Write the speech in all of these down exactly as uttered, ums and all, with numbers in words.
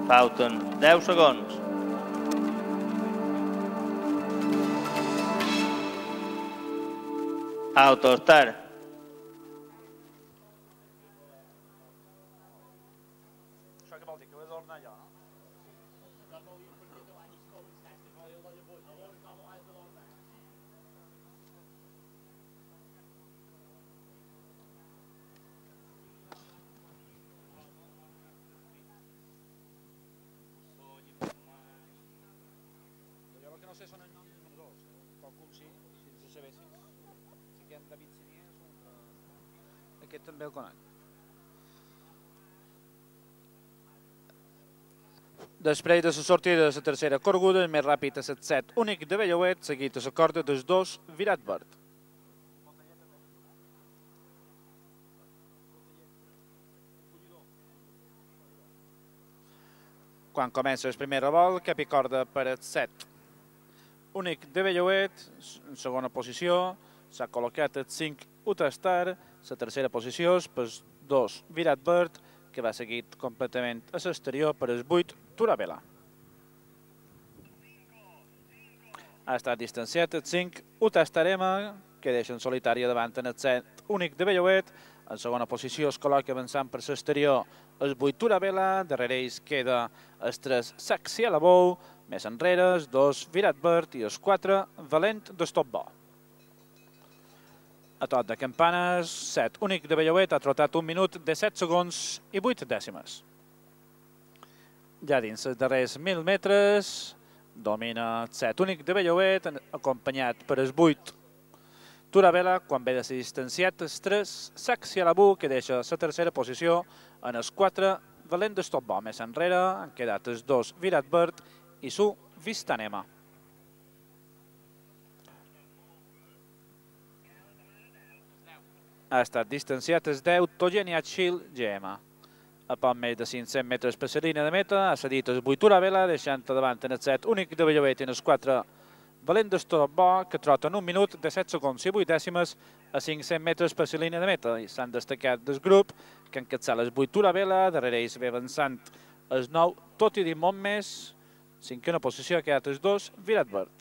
Falten deu segons. Autostar. Això què vol dir? Que ho he d'ordenar jo, no? Jo el que no sé són els noms dels números. Calcul sí, si ens sabessin. Si que en David Sinier és un... Aquest també el conec. Després de la sortida de la tercera corguda, el més ràpid a set set únic de Bellauet, seguit a la corda dels dos Virat Verd. Quan comença el primer revolt, cap i corda per el set. Únic de Bellauet, en segona posició, s'ha col·locat el cinc Utestar, la tercera posició és per dos Virat Verd, que va seguit completament a l'exterior per el vuit Turavela. Ha estat distanciat el cinc Utestarema, que deixa en solitari davant en el set únic de Bellauet. En segona posició es col·loca avançant per l'exterior el vuit Turavela, darrere ells queda el tres Saxielabou, més enrere els dos Virat Verd i els quatre Valent d'Estopbo. A tot de campanes, set únic de Bellauet ha trotat un minut de set segons i vuit dècimes. Ja dins els darrers mil metres domina el set únic de Bellauet, acompanyat per el vuit Turavela, quan ve de ser distanciat el tres Saxielabou, que deixa la tercera posició en els quatre Valent d'Estopbo. Més enrere han quedat els dos Virat Verd i su Vistanema. Ha estat distanciat el deu Togeniachil G M. A poc més de cinc-cents metres per la línia de meta ha cedit el vuit Turavela, deixant davant en el set únic de Bellauet i en els quatre Valent d'Estopbo, que troten un minut de set segons i vuit dècimes a cinc-cents metres per la línia de meta. I s'han destacat del grup, que encapçala el vuit Turavela, darrere ells ve avançant el nou Toti di Montmès, cinquena posició ha quedat els dos Virat Verd.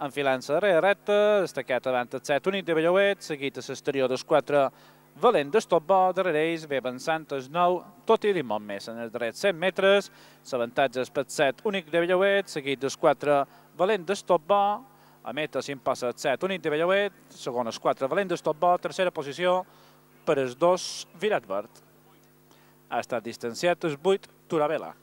Enfilant-se darrere recta, destacat davant el set únic de Bellauet, seguit a l'exterior dels quatre Valent d'Estopbo, darrere ells ve avançant el nou Toti di Montmès. En els darrers cent metres, l'avantatge és per el set únic de Bellauet, seguit dels quatre Valent d'Estopbo, a meta s'impassa el set únic de Bellauet, segon els quatre Valent d'Estopbo, tercera posició per els dos Virat Verd. Ha estat distanciat el vuit Turavela.